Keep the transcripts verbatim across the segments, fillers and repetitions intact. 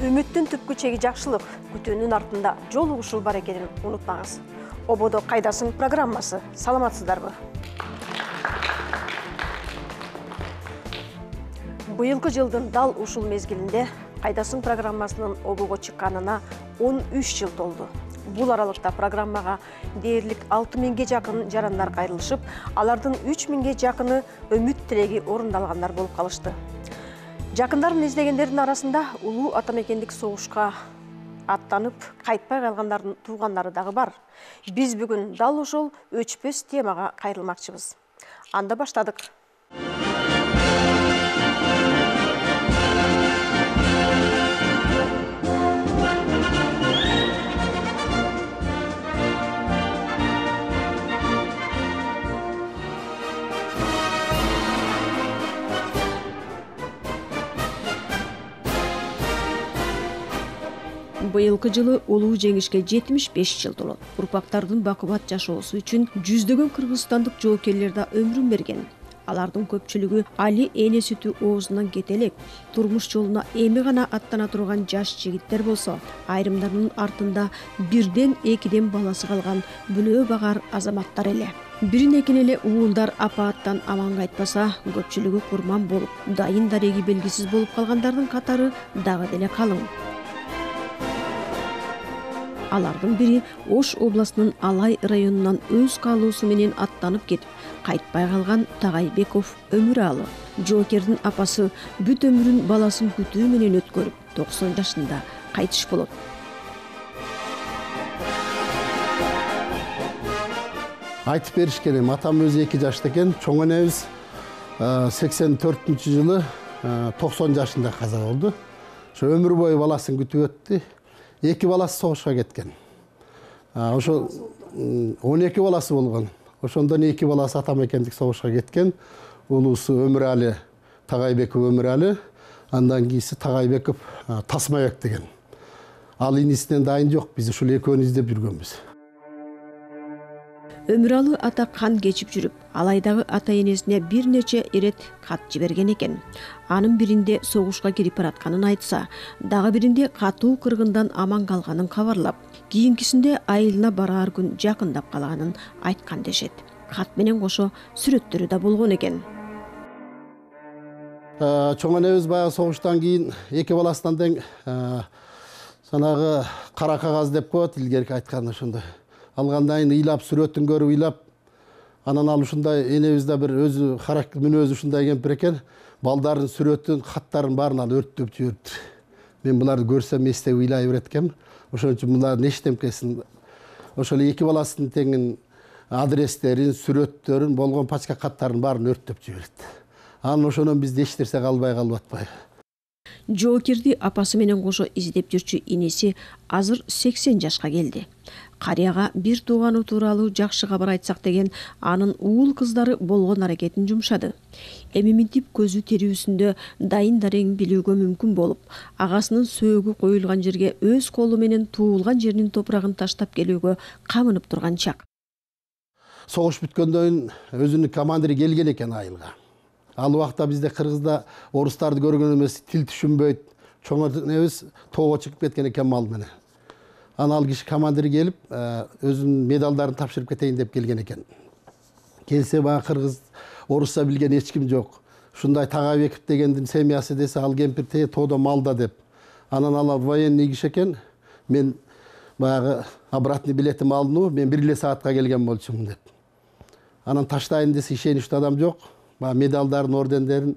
Үмүттүн түпкү чеги жакшылык, күтүүнүн артында жол угушул бар экенин унутпаңыз. Ободо кайдасың программасы. Саламатсыздарбы? Быйылкы жылдын дал ушул мезгилинде кайдасың программасынын обого чыкканына он үч жыл толду. Бул аралыкта программага дээрлик алты миңге жакын жарандар кайрылышып, алардын үч миңге жакыны үмүт тилеги орундалгандар болуп калышты. Жакындарын издегендердин арасында улуу атамекендик согушка аттанып, кайтпай калгандардын туугандары дагы бар. Биз бүгүн дал ошол өчпөс темага кайрылмакчыбыз. Анда баштадык. Быйылкы жылы улуу жеңишке жетимиш беш жыл толот. Урпактардын бакубат жашоосу үчүн жүздөгөн кыргызстандык жоокерлер да өмүрүн берген. Алардын көпчүлүгү али эне сүтү оозунан кете элек, турмуш жолуна эми гана аттана турган жаш жигиттер болсо, айрымдарынын артында бирден экиден баласы калган бүлөө багар азаматтар эле. Бирин экин эле уулдар апааттан аман кайтпаса, көпчүлүгү курман болуп, дайын дареги белгисиз болуп калгандардын катары дагы деле калың. Алардын бири Ош областынын Алай районунан өз каалоосу менен аттанып кетип, кайтпай калган Тагайбеков Өмүралы. Жоокердин апасы бүт өмүрүн баласын күтүү менен өткөрүп, токсон жашында кайтыш болот. Айтып беришкен эми, атам өзү эки жашта экен, чоң энебиз сексен төртүнчү жылы токсон жашында каза болду. Ошо өмүр бою баласын күтүп өттү. Эки баласы согушка кеткен. Ошо он эки баласы болгон. Ошондон эки баласы атамекендик согушка кеткен. Улуусу Өмүралы, Тагайбеков Өмүралы, андан кийинси Тагайбеков Тасмабек деген. Ал инисинен дайын жок, биз ушул экөөнү издеп жүргөнбүз. Өмүралы ата кан кечип жүрүп, Алайдагы ата энесине бир нече ирет кат жиберген экен. Анын биринде согушка кирип баратканын айтса, дагы биринде катуу кыргындан аман калганын кабарлап, кийинкисинде айылына бараар күн жакындап калганын айткан дешет. Кат менен кошо сүрөттөрү да болгон экен. Чоң энебиз баягы согуштан кийин эки баласынан тең санагы кара кагаз деп коет, илгерки айтканда ошондой. Алгандан кийин ыйлап, сүрөтүн көрүп ыйлап, анан ал ушундай энебиз да бир өзү характер мүнөзү ушундай кемпир экен, балдардын сүрөтүн, каттарын баарын ал өрттөп жибериптир. Мен буларды көрсөм эстеп ыйлай берет экенмин. Ошон үчүн булардын эчтемкесин, ошол эки баласынын теңин адрестерин, сүрөттөрүн, болгон пачка каттарын баарын өрттөп жиберет. Анан ошондон бизде эч нерсе калбай калып атпайбы. Жоокерди апасы менен кошо издеп жүрчү иниси азыр сексен жашка келди. Карыяга бир тууганы тууралуу жакшы кабар айтсак деген анын уул кыздары болгон аракетин жумшады. Эми минтип көзү терүүсүндө дайын дарегин билүүгө мүмкүн болуп, агасынын сөөгү коюлган жерге өз колу менен туулган жеринин топурагын таштап келүүгө камынып турган чак. Согуш бүткөндөн кийин өзүнүн командири келген экен айылга. Ал убакта бизде кыргызда орустарды көргөн эмес, тил түшүнбөйт. Чоң энебиз тоого чыгып кеткен экен мал менен. Анан ал киши командири келип, өзүнүн медалдарын тапшырып кетейин деп келген экен. Келсе баягы кыргыз, орусча билген эч ким жок. Ушундай Тагайбеков дегендин семьясы десе, ал кемпир те тоодо малда деп. Анан ал военный киши экен. Мен баягы обратный билетим алынуу, мен бир эле саатка келген болчумун деп. Анан таштайын десе ишеничтүү адам жок. Баягы медалдарын, ордендерин,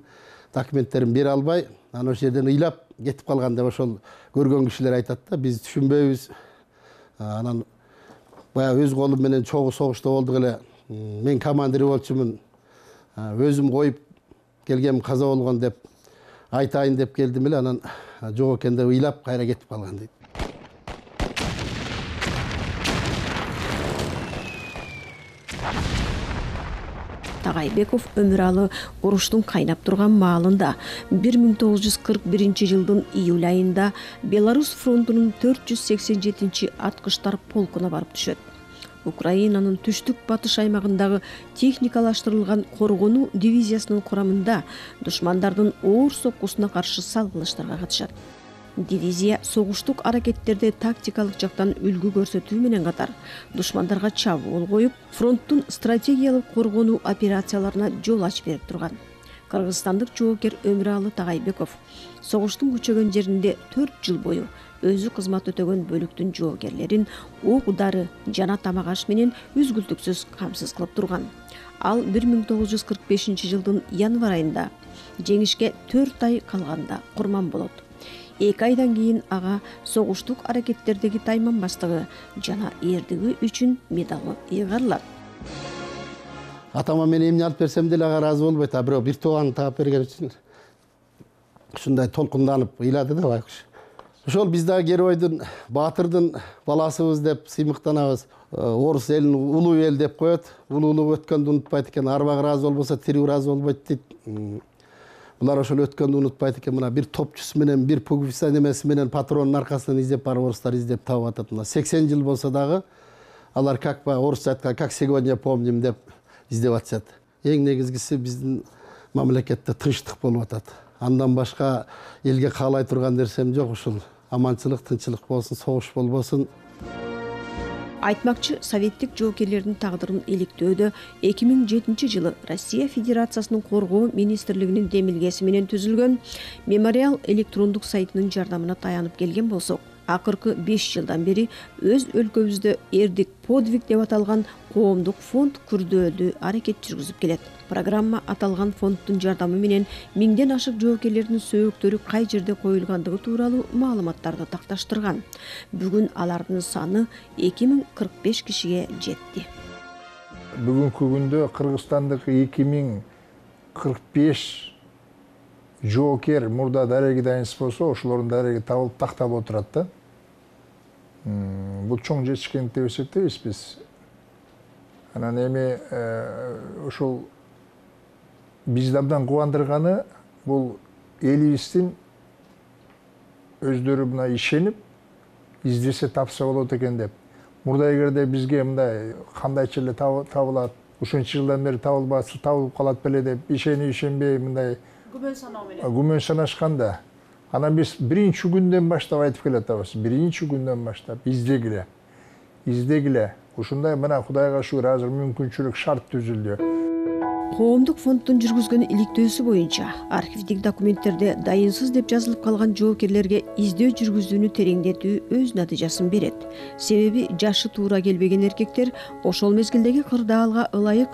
документтерин бере албай, анан ошол жерден ыйлап кетип калган деп ошол көргөн кишилер айтат да, биз түшүнбөйбүз. Анан баягы өз колум менен чогуу согушта болдук эле. Мен командир болчумун. Өзүм коюп келгем каза болгон деп айтайын деп келдим эле, анан жок экен деп ыйлап кайра кетип калган дейт. Тагайбеков Өмүралы уруштун кайнап турган маалында бир миң тогуз жүз кырк биринчи жылдын июль айында Беларусь фронтунун төрт жүз сексен жетинчи аткычтар полкуна барып түшөт. Украинанын түштүк батыш аймагындагы техникалаштырылган коргонуу дивизиясынын курамында душмандардын оор соккусуна каршы салгылаштарга катышат. Дивизия согуштук аракеттерде тактикалык жактан үлгү көрсөтүү менен катар душмандарга чабуул коюп, фронттун стратегиялык коргонуу операцияларына жол ачып берип турган. Кыргызстандык жоокер Өмүралы Тагайбеков согуштун күчөгөн жеринде төрт жыл бою өзү кызмат өтөгөн бөлүктүн жоокерлерин ок дары жана тамак аш менен үзгүлтүксүз камсыз кылып турган. Ал бир миң тогуз жүз кырк бешинчи жылдын январь айында жеңишке төрт ай калганда курман болот. Эки айдан кийин ага согуштук аракеттердеги тайманбастыгы жана эрдиги үчүн медалы ыйгарылат. Атама мен эмне алып берсем деле ага ыраазы болбойт, а бирок бир тууганын таап берген үчүн ушундай толкунданып ыйлады да байкуш. Ошол биз дагы геройдун, баатырдын баласыбыз деп сыймыктанабыз. Орус элин улуу эл деп коет. Улуулук өткөндү унутпайт экен. Арбак ыраазы болбосо тирүү ыраазы болбойт дейт. Булар ошол өткөндү унутпайт экен. Мына бир топчусу менен, бир пуговица немеси менен патронун аркасынан издеп барып орустар издеп таап атат. Мына сексен жыл болсо дагы алар как ба орусча айткан как сегодня помним деп издеп атышат. Эң негизгиси биздин мамлекетте тынчтык болуп атат. Андан башка элге каалай турган нерсем жок. Ушул аманчылык, тынчылык болсун, согуш болбосун. Айтмакчы, советтик жоокерлердин тагдырын иликтөөдө эки миң жетинчи жылы Россия Федерациясынын коргоо министрлигинин демилгеси менен түзүлгөн мемориал электрондук сайтынын жардамына таянып келген болсок, акыркы беш жылдан бери өз өлкөбүздө эрдик подвиг деп аталган коомдук фонд күрдөөлүү аракет жүргүзүп келет. Программа аталган фонддун жардамы менен миңден ашык жоокерлердин сөөктөрү кай жерде коюлгандыгы тууралуу маалыматтарды такташтырган. Бүгүн алардын саны эки миң кырк беш кишиге жетти. Бүгүнкү күндө Кыргызстандык эки миң кырк беш жоокер мурда дареги дайынсыз болсо, ошолордун дареги табылып тактап отурат да. Бул чоң жетишкендик деп эсептейбиз биз. Анан эми ошол бизди абдан кубандырганы бул элибиздин өздөрү мына ишенип издесе тапса болот экен деп. Мурда эгерде бизге мындай кандайча эле табылат, ушунча жылдан бери табылбаса табылып калат беле деп ишенип ишенбей мындай күмөн саноо менен күмөн санашканда, анан биз биринчи күндөн баштап айтып келатабыз. Биринчи күндөн баштап издегиле, издегиле. Ушундай мына Кудайга шүгүр азыр мүмкүнчүлүк шарт түзүлдү. Коомдук фонддун жүргүзгөн иликтөөсү боюнча архивдик документтерде дайынсыз деп жазылып калган жоокерлерге издөө жүргүзүүнү тереңдетүү өз натыйжасын берет. Себеби жашы туура келбеген эркектер ошол мезгилдеги кырдаалга ылайык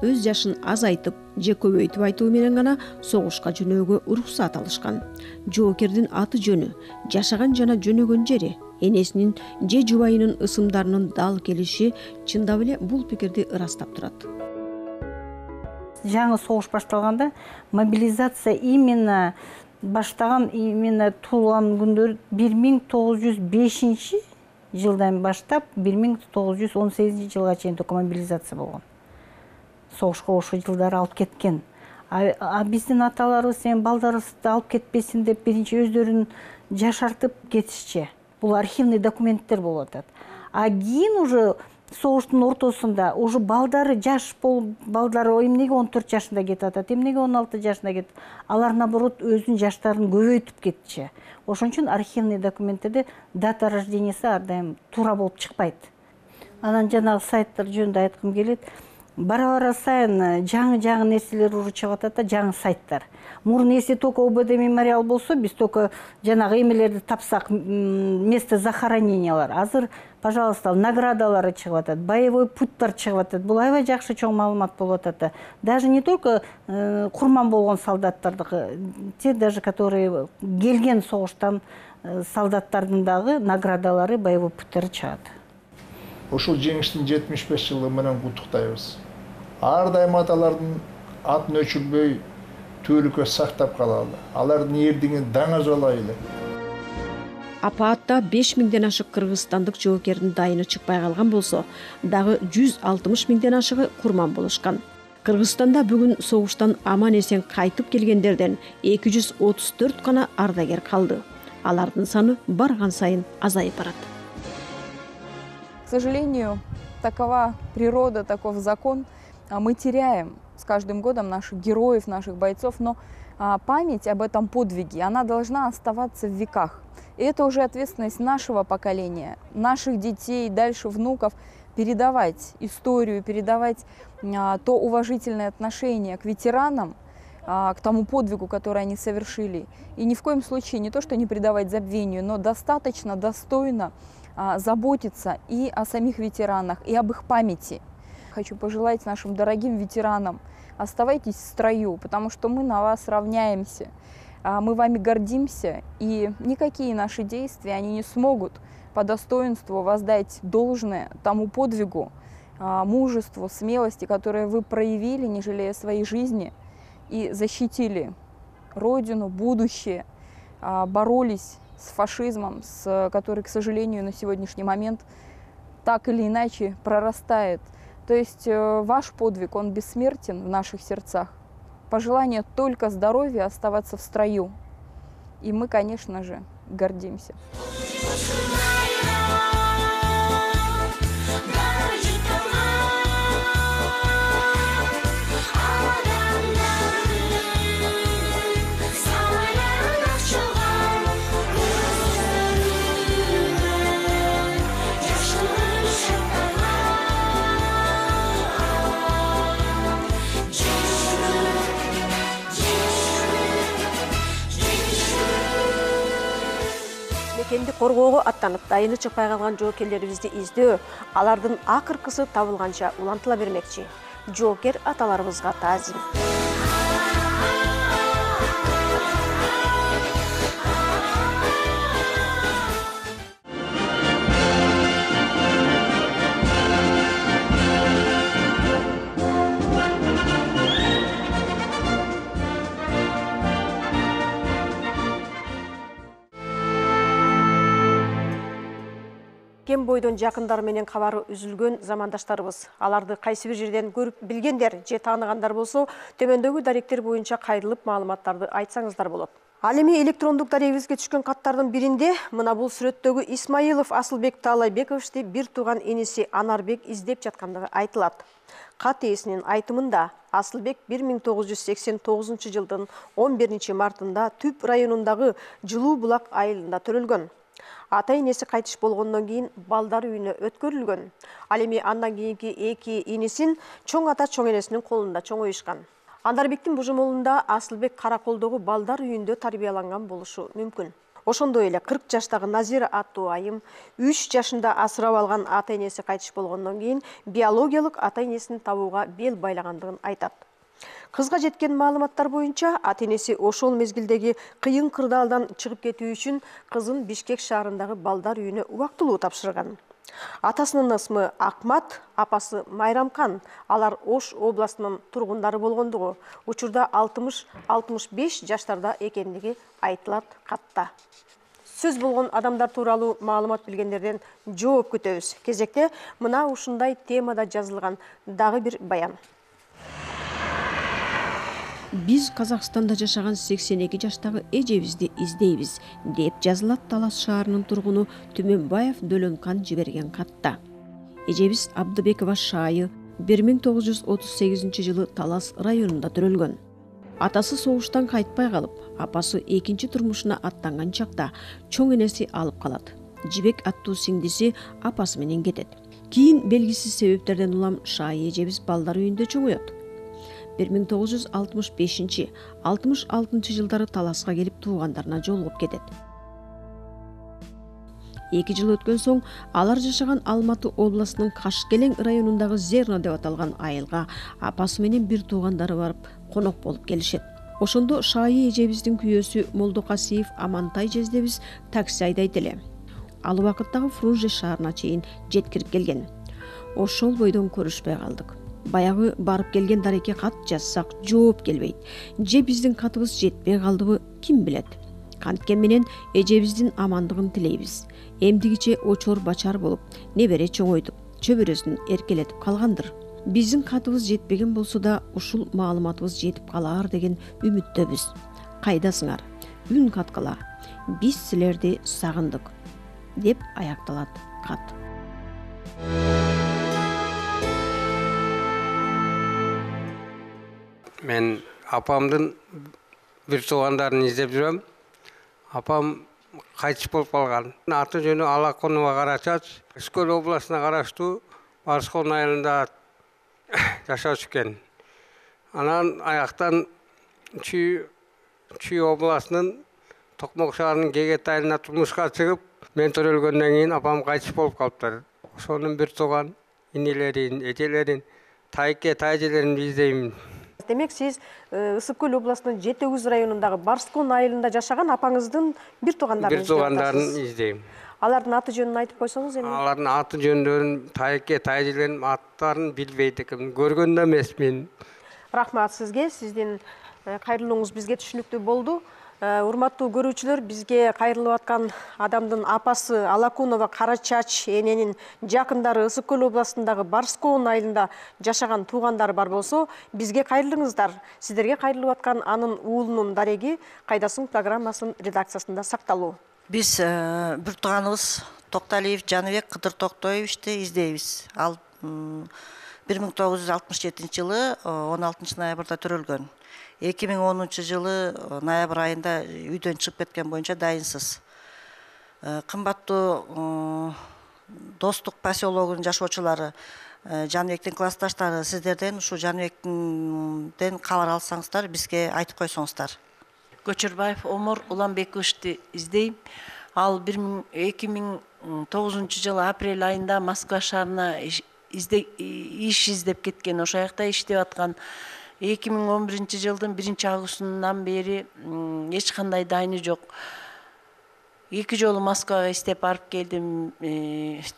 өз жашын азайтып же көбөйтүп айтуу менен гана согушка жөнөөгө уруксат алышкан. Жоокердин аты жөнү, жашаган жана жөнөгөн жери, энесинин же жубайынын ысымдарынын дал келиши чындап эле бул пикирди ырастап турат. Жаңы согуш башталганда мобилизация именно баштаган, именно туулган күндөр бир миң тогуз жүз бешинчи жылдан баштап бир миң тогуз жүз он сегизинчи жылга чейин только мобилизация болгон. Согушка ошол жылдары алып кеткен. А биздин аталарыбыз эми балдарыбызды алып кетпесин деп биринчи өздөрүн жашартып кетишчи. Бул архивный документтер болуп атат. А кийин уже согуштун ортосунда уже балдары жаш болуп, балдары эмнеге он төрт жашында кетип атат, эмнеге он алты жашында кетип, алар наоборот өзүнүн жаштарын көбөйтүп кетчи. Ошон үчүн архивный документтерде дата рождениясы ар дайым туура болуп чыкпайт. Анан жанагы сайттар жөнүндө айткым келет. Бара-бара сайын жаңы-жаңы нерселер уже чыгып атат да, жаңы сайттар. Мурун если только ОБД мемориал болсо, биз только жанагы эмелерди тапсак, место захоронениялар. Азыр, пожалуйста, наградалары чыгып атат, боевой путтар чыгып атат. Бул аябай жакшы чоң маалымат болуп атат. Даже не только курман болгон солдаттардыкы, те даже которые келген согуштан солдаттардын дагы наградалары, боевой путтары чыгат. Ошол жеңиштин жетимиш беш жылы менен куттуктайбыз. Ар дайым аталардын атын өчүрбөй түбөлүккө сактап калалы. Алардын эрдигин даңазалайлы. Апаатта беш миңден ашык кыргызстандык жоокердин дайыны чыкпай калган болсо, дагы жүз алтымыш миңден ашыгы курман болушкан. Кыргызстанда бүгүн согуштан аман эсен кайтып келгендерден эки жүз отуз төрт гана ардагер калды. Алардын саны барган сайын азайып барат. К сожалению, такова природа, таков закон. Мы теряем с каждым годом наших героев, наших бойцов, но а, память об этом подвиге, она должна оставаться в веках. И это уже ответственность нашего поколения, наших детей, дальше внуков, передавать историю, передавать а, то уважительное отношение к ветеранам, а, к тому подвигу, который они совершили. И ни в коем случае не то, что не предавать забвению, но достаточно достойно а, заботиться и о самих ветеранах, и об их памяти. Хочу пожелать нашим дорогим ветеранам: оставайтесь в строю, потому что мы на вас равняемся, мы вами гордимся, и никакие наши действия, они не смогут по достоинству воздать должное тому подвигу, мужеству, смелости, которые вы проявили, не жалея своей жизни, и защитили Родину, будущее, боролись с фашизмом, с, который, к сожалению, на сегодняшний момент так или иначе прорастает. То есть ваш подвиг, он бессмертен в наших сердцах. Пожелание только здоровья, оставаться в строю. И мы, конечно же, гордимся. Мекенди коргоого аттанып, дайыны чыкпай калган жоокерлерибизди издөө, алардын акыркысы табылганча улантыла бермекчи. Жоокер аталарыбызга таазим. Кем бойдон жакындары менен кабары үзүлгөн замандаштарыбыз, аларды кайсы бир жерден көрүп билгендер же тааныгандар болсо, төмөндөгү даректер боюнча кайрылып маалыматтарды айтсаңыздар болот. Ал эми электрондук дарегибизге түшкөн каттардын биринде мына бул сүрөттөгү Исмаилов Асылбек Таалайбековичти бир тууган иниси Анарбек издеп жаткандыгы айтылат. Кат ээсинин айтымында Асылбек бир миң тогуз жүз сексен тогузунчу жылдын он биринчи мартында Түп районундагы Жылуу булак айылында төрөлгөн. Ата энеси кайтыш болгондон кийин балдар үйүнө өткөрүлгөн. Ал эми андан кийинки эки инисин чоң ата чоң энесинин колунда чоңоюшкан. Анарбектин божомолунда Асылбек Караколдогу балдар үйүндө тарбияланган болушу мүмкүн. Ошондой эле кырк жаштагы Назира аттуу айым үч жашында асырап алган ата энеси кайтыш болгондон кийин биологиялык ата энесин табууга бел байлагандыгын айтат. Кызга жеткен маалыматтар боюнча ата энеси ошол мезгилдеги кыйын кырдаалдан чыгып кетүү үчүн кызын Бишкек шаарындагы балдар үйүнө убактылуу тапшырган. Атасынын ысмы Акмат, апасы Майрамкан. Алар Ош областынын тургундары болгондугу, учурда алтымыш алтымыш беш жаштарда экендиги айтылат катта. Сөз болгон адамдар тууралуу маалымат билгендерден жооп күтөбүз. Кезекте мына ушундай темада жазылган дагы бир баян. Биз Казакстанда жашаган сексен эки жаштагы эжебизди издейбиз, деп жазылат Талас шаарынын тургуну Түмөнбаев Дөлөнкан жиберген катта. Эжебиз Абдыбекова Шайы бир миң тогуз жүз отуз сегизинчи жылы Талас районунда төрөлгөн. Атасы согуштан кайтпай калып, апасы экинчи турмушуна аттанган чакта чоң энеси алып калат. Жибек аттуу сиңдиси апасы менен кетет. Кийин белгисиз себептерден улам Шайы эжебиз балдар үйүндө чоңоет. бир миң тогуз жүз алтымыш бешинчи — алтымыш алтынчы жылдары Таласка келип туугандарына жолугуп кетет. эки жыл өткөн соң алар жашаган Алматы областынын Кашкелең районундагы Зерно деп аталган айылга апасы менен бир туугандары барып конок болуп келишет. Ошондо Шайы эжебиздин күйөөсү Молдокасиев Амантай жездебиз такси айдайт эле. Ал убакыттагы Фрунзе шаарына чейин жеткирип келген. Ошол бойдон көрүшпөй калдык. Баягы барып келген дарекке кат жазсак жооп келбейт. Же биздин катыбыз жетпей калдыбы, ким билет. Канткен менен эжебиздин амандыгын тилейбиз. Эмдигиче очор бачар болуп, небере чоңойтуп, чөбөрөсүн эркелетип калгандыр. Биздин катыбыз жетпеген болсо да ушул маалыматыбыз жетип калаар деген үмүттөбүз. Кайдасыңар? Үн каткала. Биз силерди сагындык, деп аякталат кат. Мен апамдын бир туугандарын издеп жүрөм. Апам кайтыш болуп калган. Аты жөнү Алаконова Карачач, Үскөл областына караштуу Барскон айылында жашачу экен. Анан аяктан Чүй Чүй областынын Токмок шаарынын Кегет айылына турмушка чыгып, мен төрөлгөндөн кийин апам кайтыш болуп калыптыр. Ошонун бир тууган инелерин, эжелерин, тайке, тайжелерин издейм. Демек, сиз Ысык көл областынын Жети Өгүз районундагы Барскон айылында жашаган апаңыздын бир туугандарын бир туугандарын издейм. Алардын аты жөнүн айтып койсоңуз эми? Алардын аты жөндөрүн, тайке, тайжелерин аттарын билбейт экенмин. Көргөн да эмесмин. Рахмат сизге. Сиздин кайрылууңуз бизге түшүнүктүү болду. Урматтуу көрүүчүлөр, бизге кайрылып аткан адамдын апасы Алакунова Карачач эненин жакындары Ысык көл областындагы Барскон айылында жашаган туугандары бар болсо, бизге кайрылыңыздар. Сиздерге кайрылып аткан анын уулунун дареги Кайдасың программасынын редакциясында сакталуу. Биз бир тууганыбыз Токталиев Жаныбек Кыдыр Токтоевичти издейбиз. Ал бир миң тогуз жүз алтымыш жетинчи жылы он алтынчы ноябрда төрөлгөн. эки миң онунчу жылы ноябрь айында үйдөн чыгып кеткен боюнча дайынсыз. Кымбаттуу Достук поселогунун жашоочулары, Жаныбектин классташтары, сиздерден ушу Жаныбектен кабар алсаңыздар, бизге айтып койсоңуздар. Көчөрбаев Омор Уланбековичти издейм. Ал эки миң тогузунчу жылы апрель айында Москва шаарына иш издеп кеткен. Ошол жакта иштеп аткан. эки миң он биринчи жылдын биринчи августунан бери эч кандай дайыны жок. Эки жолу Москвага издеп барып келдим.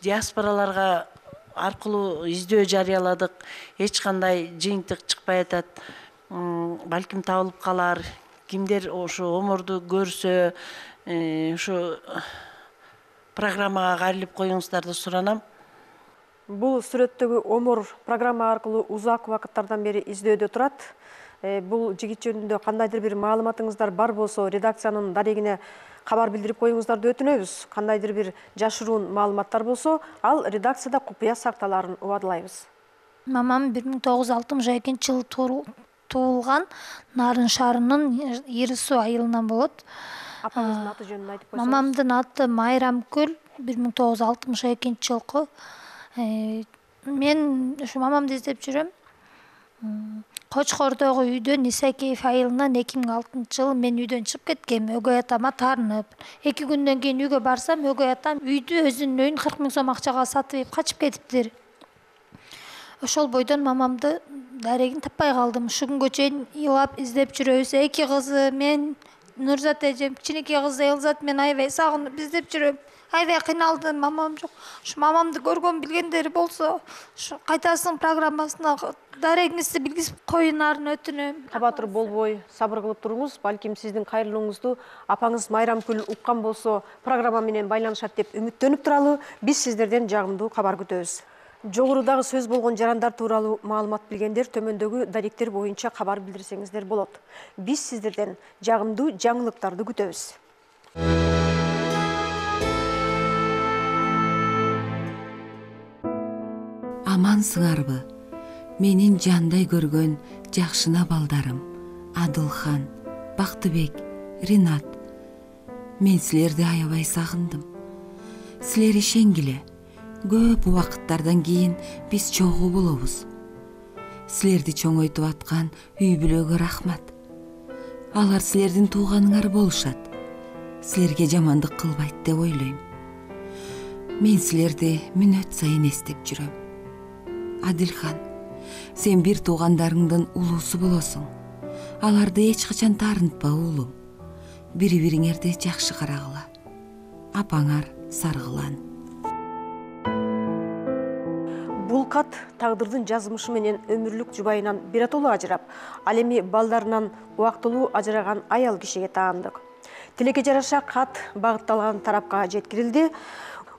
Диаспораларга аркылуу издөө жарыяладык. Эч кандай жыйынтык чыкпай атат. Балким табылып калар. Кимдер ошо Оморду көрсө, ошо программага кайрылып коюңуздарды суранам. Бул сүрөттөгү Омор программа аркылуу узак убакыттардан бери издөөдө турат. Бул жигит жөнүндө кандайдыр бир маалыматыңыздар бар болсо, редакциянын дарегине кабар билдирип коюңуздарды өтүнөбүз. Кандайдыр бир жашыруун маалыматтар болсо, ал редакцияда купуя сакталарын убадылайбыз. Мамам бир миң тогуз жүз алтымыш экинчи жылы туулган, Нарын шаарынын Ири Суу айылынан болот. Апаңыздын аты жөнүн айтып койсоңуз. Мамамдын аты Майрамкүл, бир миң тогуз жүз алтымыш экинчи жылкы. Мен ушу мамамды издеп жүрөм. Кочкордогу үйдөн Исакеев айылынан эки миң алтынчы жылы мен үйдөн чыгып кеткем, өгөй атама таарынып. эки күндөн кийин үйгө барсам, өгөй атам үйдү өзүнүн өйүн кырк миң сом акчага сатып качып кетиптир. Ошол бойдон мамамды дарегин таппай калдым. Ушу күнгө чейин ыйлап издеп жүрөбүз. Эки кызы, мен, Нурзат эжем, кичинекей кызы Элзат, мен аябай сагынып издеп жүрөм. Аябай кыйналдым, мамам жок. Ушу мамамды көргөн билгендери болсо, ушу Кайтасың программасына дарегиңизди билгизип коюңарын өтүнөм. Кабатыр болбой, сабыр кылып туруңуз. Балким сиздин кайрылууңузду апаңыз Майрамкүл уккан болсо, программа менен байланышат деп үмүттөнүп туралы. Биз сиздерден жагымдуу кабар күтөбүз. Жогорудагы сөз болгон жарандар тууралуу маалымат билгендер төмөндөгү даректер боюнча кабар билдирсеңиздер болот. Биз сиздерден жагымдуу жаңылыктарды күтөбүз. Амансыңарбы? Менин жандай көргөн жакшына балдарым, Адылхан, Бактыбек, Ринат. Мен силерди аябай сагындым. Силер ишенгиле. Көп убакыттардан кийин биз чогуу болобуз. Силерди чоңойтуп аткан үй бүлөгө рахмат. Алар силердин тууганыңар болушат. Силерге жамандык кылбайт деп ойлойм. Мен силерди мүнөт сайын эстеп жүрөм. Адилхан, сен бир туугандарыңдын улуусу болосуң. Аларды эч качан таарынтпа уулум. Бири-бириңерди жакшы карагыла. Апаңар Саргылан. Бул кат тагдырдын жазмышы менен өмүрлүк жубайынан биротоло ажырап, ал эми балдарынан убактылуу ажыраган аял кишиге таандык. Тилекке жараша кат багытталган тарапка жеткирилди.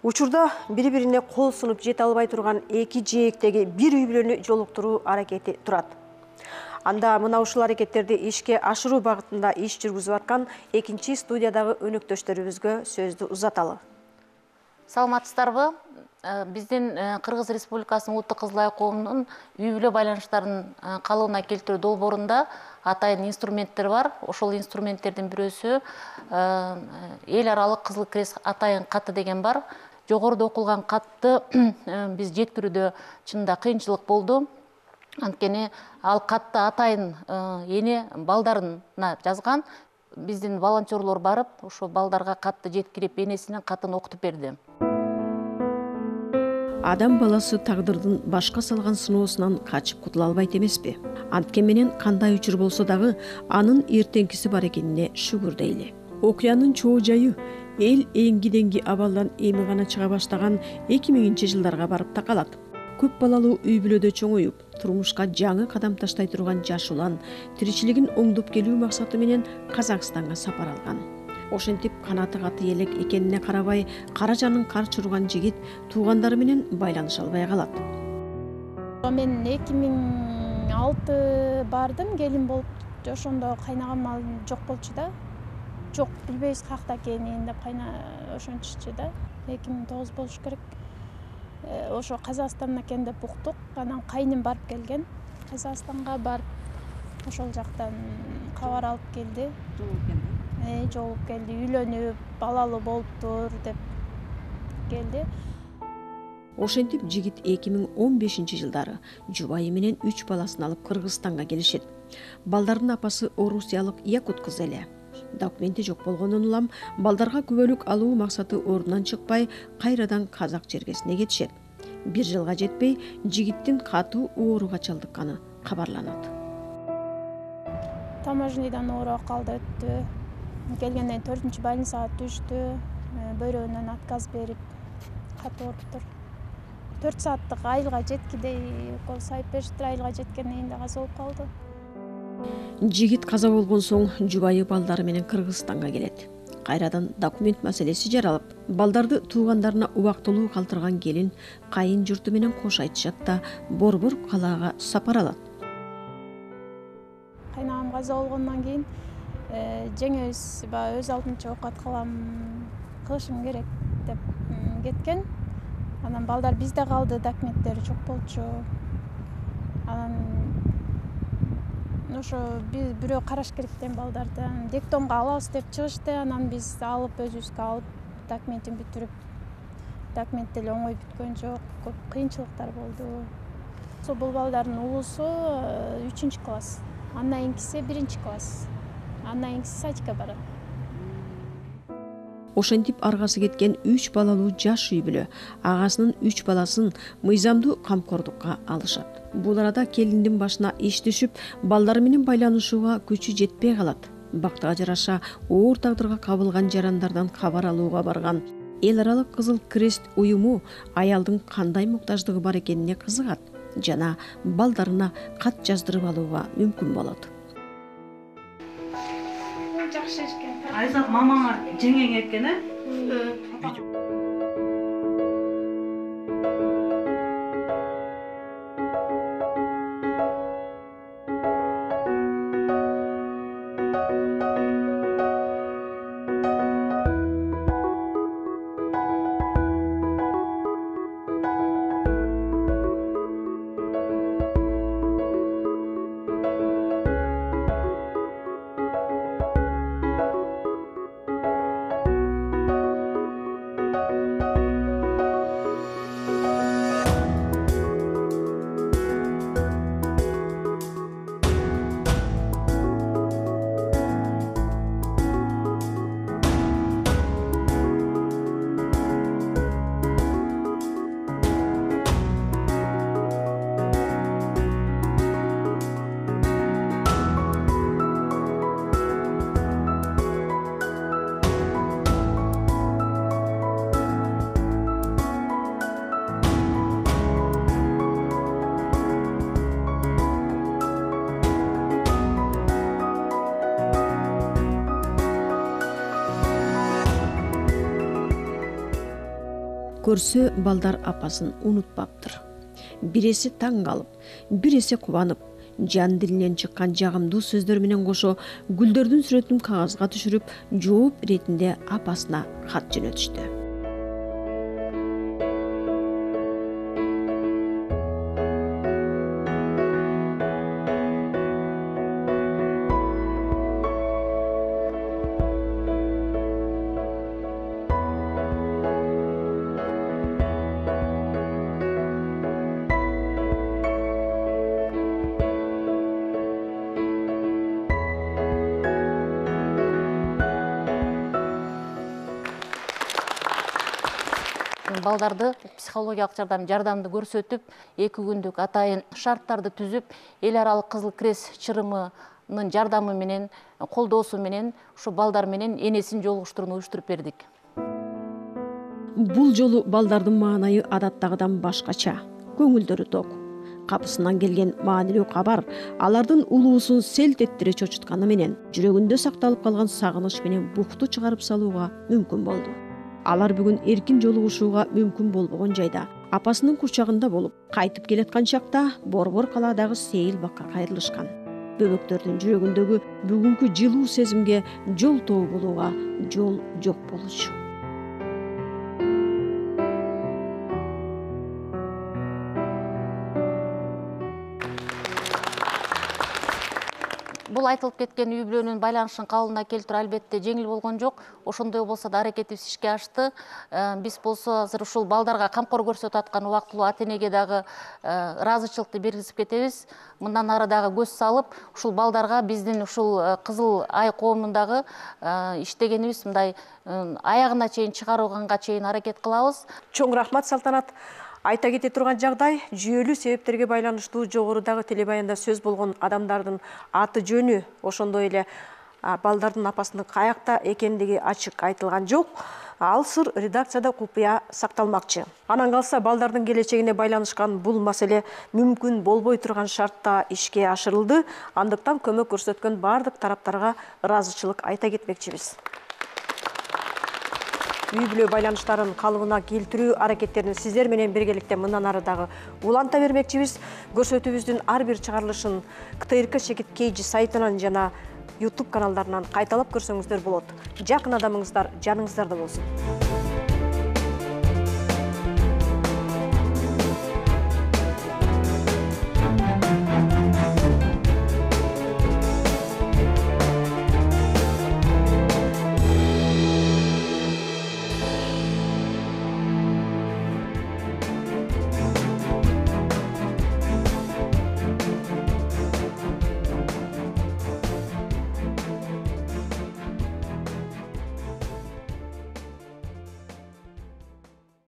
Учурда бири-бирине кол сунуп жете албай турган эки жээктеги бир үй бүлөнү жолуктуруу аракети турат. Анда мына ушул аракеттерди ишке ашыруу багытында иш жүргүзүп аткан экинчи студиядагы өнөктөштөрүбүзгө сөздү узаталы. Саламатсыздарбы? Биздин Кыргыз Республикасынын Улуттук Кызыл Ай коомунун үй бүлө байланыштарын калыбына келтирүү долбоорунда атайын инструменттер бар. Ошол инструменттердин бирөөсү эл аралык Кызыл Крест атайын каты деген бар. Жогоруда окулган катты биз жеткирүүдө чынында кыйынчылык болду. Анткени ал катты атайын эне балдарына жазган. Биздин волонтерлор барып, ошо балдарга катты жеткирип, энесинин катын окутуп берди. Адам баласы тагдырдын башка салган сыноосунан качып кутула албайт эмеспи? Анткени менен кандай учур болсо дагы анын эртеңкиси бар экенине шүгүр дейли. Окуянын чоо жайы эл эңги-деңги абалдан эми гана чыга баштаган эки миңинчи жылдарга барып такалат. Көп балалуу үй бүлөдө чоңоюп, турмушка жаңы кадам таштай турган жаш улан тиричилигин оңдоп келүү максаты менен Казакстанга сапар алган. Ошентип канаты каты элек экенине карабай, кара жанын кар чурган жигит туугандары менен байланыша албай калат. Мен эки миң алты бардым, келин болуп, ошондо кайнагам жок болчу да. Жок, билбейбиз какта экенин деп кайна ошончучу да. эки миң тогуз болуш керек. Ошо Казакстан экен деп уктук. Анан кайным барып келген. Казакстанга барып, ошол жактан кабар алып келди. Э, жолуп келди, үйлөнүп, балалуу болуптур деп келди. Ошентип жигит эки миң он бешинчи жылдары жубайы менен үч баласын алып Кыргызстанга келишет. Балдардын апасы орусиялык якут кыз эле. Документи жок болгондон улам балдарга күбөлүк алуу максаты ордунан чыкпай, кайрадан казак жергесине кетишет. Бир жылга жетпей, жигиттин катуу ооруга чалдыкканы кабарланат. Таможнядан оору калды өттү. Келгенден төртүнчү больницага түштү. Бөйрөгүнөн отказ берип, катуу ооруптур. төрт сааттык айылга жеткидей укол сайып бериптир. Айылга жеткенден кийин да каза болуп калды. Жигит каза болгон соң жубайы балдары менен Кыргызстанга келет. Кайрадан документ маселеси жаралып, балдарды туугандарына убактылуу калтырган келин кайын журту менен кош айтышат да Борбор калаага сапар алат. Кайнагам каза болгондон кийин жеңебиз өз алдынча окуат кылам, кылышым керек деп кеткен. Анан балдар бизде калды, документтери жок болчу. Анан ошо биз бирөө караш керек деген балдарды диктомго алабыз деп чыгышты. Анан биз алып, өзүбүзгө алып, документин бүтүрүп, документ деле оңой бүткөн жок, көп кыйынчылыктар болду. Бул балдардын улусу үчүнчү класс, андан кийинкиси биринчи класс, андан кийинкиси садикке барат. Ошентип аргасы кеткен үч балалуу жаш үй бүлө агасынын үч баласын мыйзамдуу камкордукка алышат. Бул арада келиндин башына иш түшүп, балдары менен байланышууга күчү жетпей калат. Бактыга жараша оор тагдырга кабылган жарандардан кабар алууга барган эл аралык Кызыл Крест уюму аялдын кандай муктаждыгы бар экенине кызыгат жана балдарына кат жаздырып алууга мүмкүн болот. Жакшы экен. Айзат мамаңар жеңең экен, э? Көрсө балдар апасын унутпаптыр. Бир эсе таң калып, бир эсе кубанып, жан дилинен чыккан жагымдуу сөздөр менен кошо гүлдөрдүн сүрөтүн кагазга түшүрүп, жооп иретинде апасына кат жөнөтүштү. балдарды психологиялык жардам жардамды көрсөтүп, эки күндүк атайын шарттарды түзүп, эл аралык Кызыл Крест чырымынын жардамы менен, колдоосу менен ушу балдар менен энесин жолугуштурууну уюштуруп бердик. Бул жолу балдардын маанайы адаттагыдан башкача, көңүлдөрү ток. Капысынан келген маанилүү кабар алардын улуусун селт эттире чочутканы менен жүрөгүндө сакталып калган сагыныч менен букту чыгарып салууга мүмкүн болду. Алар бүгүн эркин жолугушууга мүмкүн болбогон жайда апасынын курчагында болуп, кайтып келаткан чакта Борбор калаадагы Сейил бакка кайрылышкан. Бөбөктөрдүн жүрөгүндөгү бүгүнкү жылуу сезимге жол тоо болууга жол жок болчу. Бул айтылып кеткен үй бүлөнүн байланышын калыбына келтирүү албетте жеңил болгон жок. Ошондой болсо да аракетибиз ишке ашты. Биз болсо азыр ушул балдарга камкор көрсөтүп аткан убактылуу ата-энеге дагы ыраазычылыкты белгилеп кетебиз. Мындан ары дагы көз салып, ушул балдарга биздин ушул Кызыл Ай коомундагы иштегенибиз мындай аягына чейин чыгарганга чейин аракет кылабыз. Чоң рахмат, Салтанат. Айта кете турган жагдай, жүйөлүү себептерге байланыштуу жогорудагы телебаянда сөз болгон адамдардын аты жөнү, ошондой эле балдардын апасынын каякта экендиги ачык айтылган жок. Ал сыр редакцияда купуя сакталмакчы. Анан калса балдардын келечегине байланышкан бул маселе мүмкүн болбой турган шартта ишке ашырылды. Андыктан көмөк көрсөткөн бардык тараптарга ыраазычылык айта кетмекчибиз. Үй бүлө байланыштарын калыбына келтирүү аракеттерин сиздер менен биргеликте мындан ары дагы уланта бермекчибиз. Көрсөтүүбүздүн ар бир чыгарылышын КТРК Шекит Кейджи сайтынан жана YouTube каналдарынан кайталап көрсөңүздөр болот. Жакын адамыңыздар жаныңыздарда болсун.